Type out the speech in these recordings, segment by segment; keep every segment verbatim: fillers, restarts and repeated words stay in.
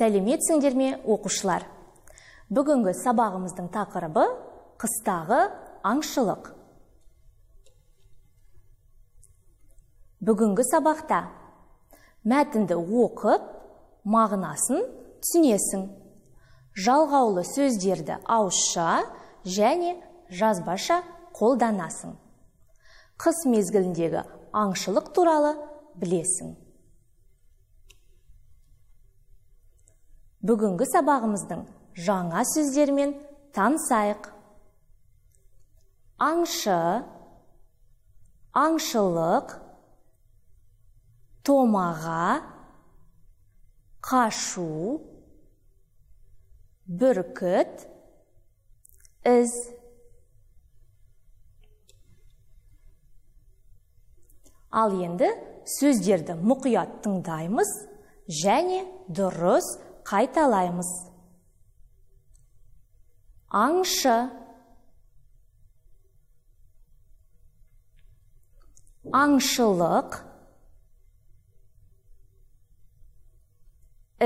Сәлеметсіңдер ме, оқушылар? Бүгінгі сабағымыздың тақырыбы қыстағы аңшылық. Бүгінгі сабақта мәтінді оқып, мағынасын түсінесің. Жалғаулы сөздерді ауызша және жазбаша қолданасың. Қыс мезгіліндегі аңшылық туралы білесің. Бүгінгі сабағымыздың жаңа сөздермен танысайық. Аңшы, аңшылық, томаға, қашу, бүркіт, із. Ал енді сөздерді мұқият тыңдаймыз және дұрыс қайталаймыз. Аңшы, аңшылық,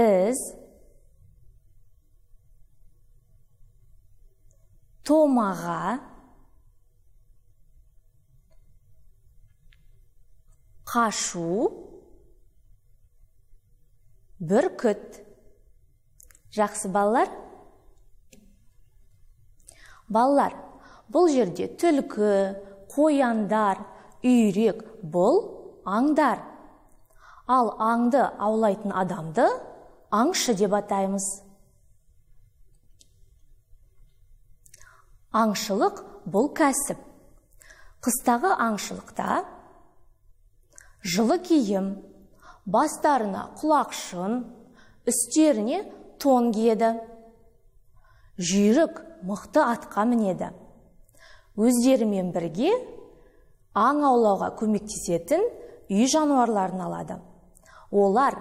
із, томаға, қашу, бүркіт. Жақсы балалар? Балалар, бұл жерде түлкі, қояндар, үйрек бұл аңдар. Ал аңды аулайтын адамды аңшы деп атаймыз. Аңшылық бұл кәсіп. Қыстағы аңшылықта жылы киім, бастарына құлақшын, үстеріне тон киеді. Жүйрік мықты атқа мінеді. Өздерімен бірге аң аулауға көмектесетін үй жануарларын алады. Олар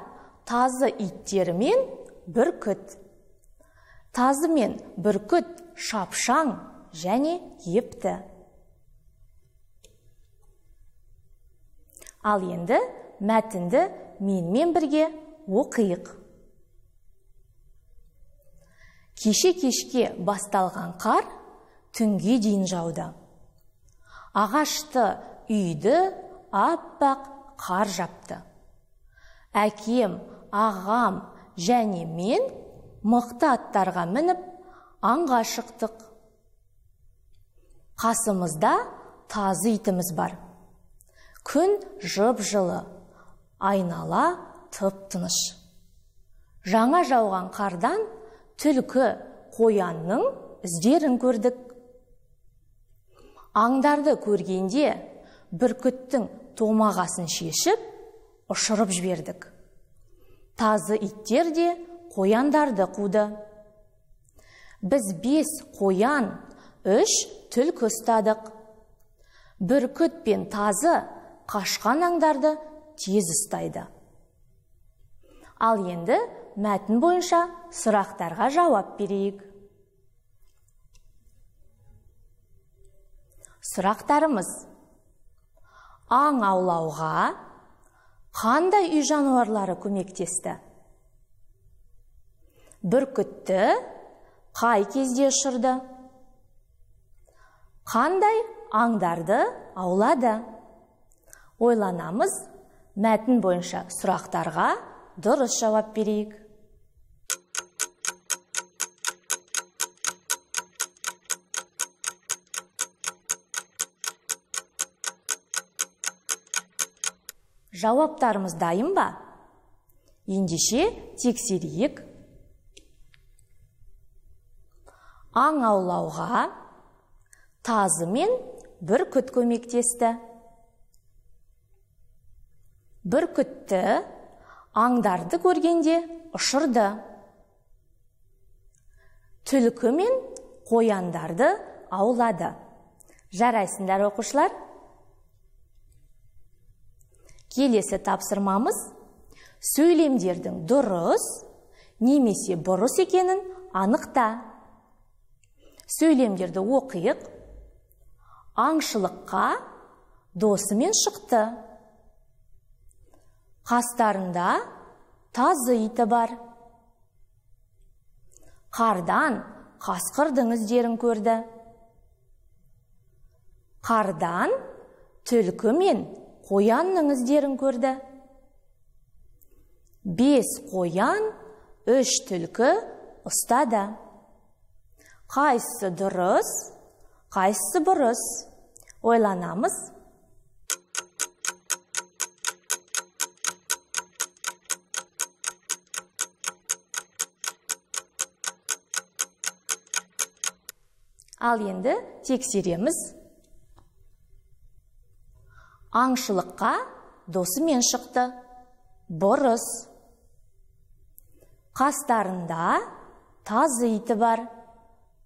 тазы иттері мен бүркіт. Тазы мен бүркіт шапшаң және епті. Ал енді мәтінді менімен бірге оқиық. Кеше-кешке басталған қар түнге дейін жауды. Ағашты, үйді аппақ қар жапты. Әкем, ағам және мен мықты аттарға мініп аңға шықтық. Қасымызда тазы итіміз бар. Күн жып-жылы, айнала тып-тыныш. Жаңа жауған қардан түлкі, қоянның іздерін көрдік. Аңдарды көргенде бүркіттің томағасын шешіп, ұшырып жібердік. Тазы иттер де қояндарды қуды. Біз бес қоян, үш түлкі ұстадық. Бүркіт пен тазы қашқан аңдарды тез ұстайды. Ал енді мәтін бойынша сұрақтарға жауап берейік. Сұрақтарымыз: аң аулауға қандай үй жануарлары көмектесті? Бүркітті қай кезде ұшырды? Қандай аңдарды аулады? Ойланамыз, мәтін бойынша сұрақтарға дұрыс жауап берейік. Жауаптарымыз дайын ба? Ендеше тексерейік. Аң аулауға тазы мен бүркіт көмектесті. Бүркітті аңдарды көргенде ұшырды. Түлкі мен қояндарды аулады. Жарайсыңдар, оқушылар? Келесі тапсырмамыз сөйлемдердің дұрыс немесе бұрыс екенін анықта. Сөйлемдерді оқиық. Аңшылыққа досымен шықты. Қастарында тазы иті бар. Қардан қасқырдың іздерін көрді. Қардан түлкі мен қоянның іздерін көрді. Бес қоян, үш түлкі ұстады. Қайсысы дұрыс, қайсысы бұрыс? Ойланамыз. Ал енді тексереміз. Аңшылыққа досымен шықты. Бұрыс. Қастарында тазы иті бар.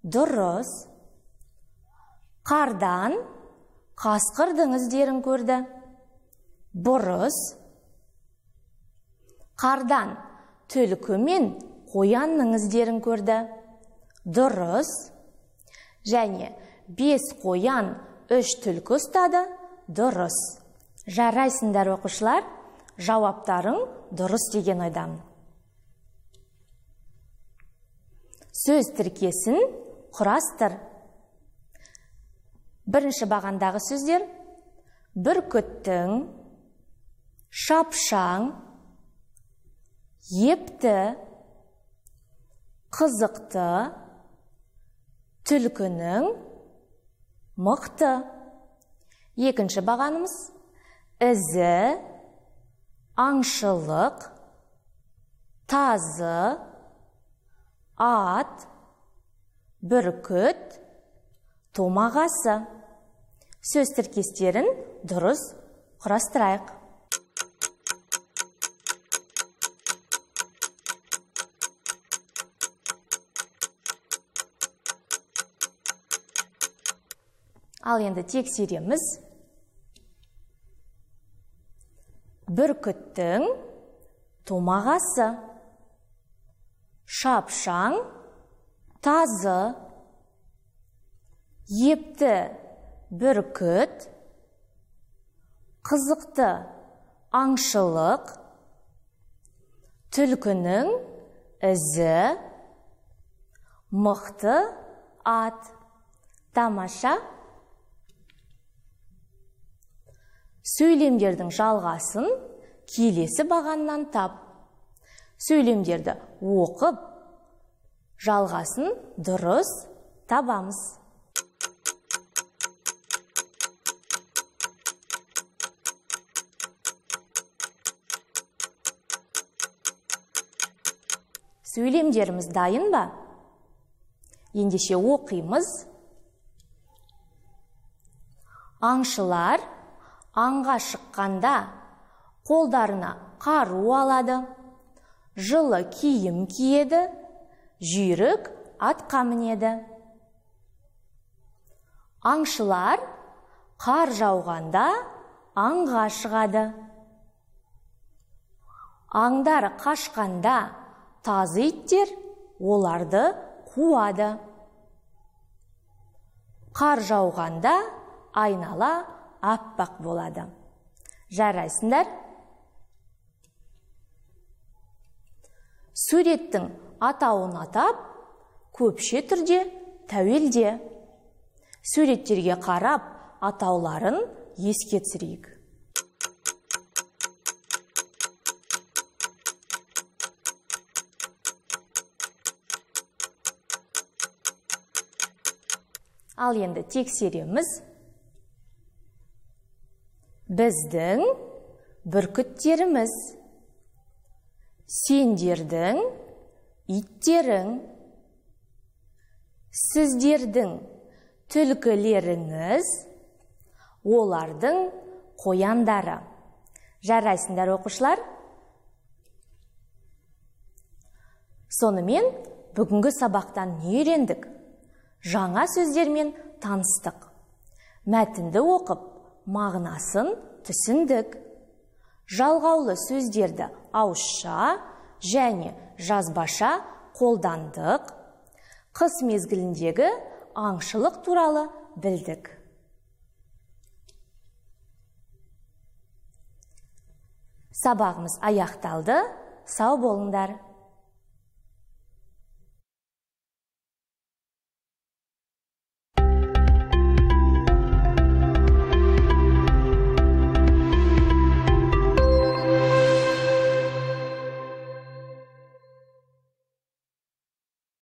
Дұрыс. Қардан қасқырдың іздерін көрді. Бұрыс. Қардан түлкі мен қоянның іздерін көрді. Дұрыс. Және бес қоян, үш түлкі ұстады. Дұрыс. Жарайсыңдар оқушылар, жауаптарың дұрыс деген ойдамын. Сөз тіркесін құрастыр. Бірінші бағандағы сөздер: бүркіттің, шапшаң, епті, қызықты, түлкінің, мықты. Екінші бағанымыз: ізі, аңшылық, тазы, ат, бүркіт, томағасы. Сөз тіркестерін дұрыс құрастырайық. Ал енді тексереміз. Бүркіттің томағасы, шапшаң, тазы, епті бүркіт, қызықты аңшылық, түлкінің ізі, мықты ат. Тамаша. Сөйлемдердің жалғасын келесі бағаннан тап. Сөйлемдерді оқып, жалғасын дұрыс табамыз. Сөйлемдеріміз дайын ба? Ендеше оқимыз. Аңшылар аңға шыққанда қолдарына қару алады, жылы киім киеді, жүйрік атқа мінеді. Аңшылар қар жауғанда аңға шығады. Аңдар қашқанда тазы иттер оларды қуады. Қар жауғанда айнала аппақ болады. Жарайсыңдар. Суреттің атауын атап, көпше түрде тәуелде. Суреттерге қарап, атауларын еске түсірейік. Ал енді тексереміз. Біздің бүркіттеріміз, сендердің иттерің, сіздердің түлкілеріңіз, олардың қояндары. Жарайсыңдар оқушылар. Сонымен бүгінгі сабақтан не үйрендік? Жаңа сөздермен таныстық. Мәтінді оқып, мағынасын түсіндік. Жалғаулы сөздерді ауызша және жазбаша қолдандық. Қыс мезгіліндегі аңшылық туралы білдік. Сабағымыз аяқталды. Сау болыңдар.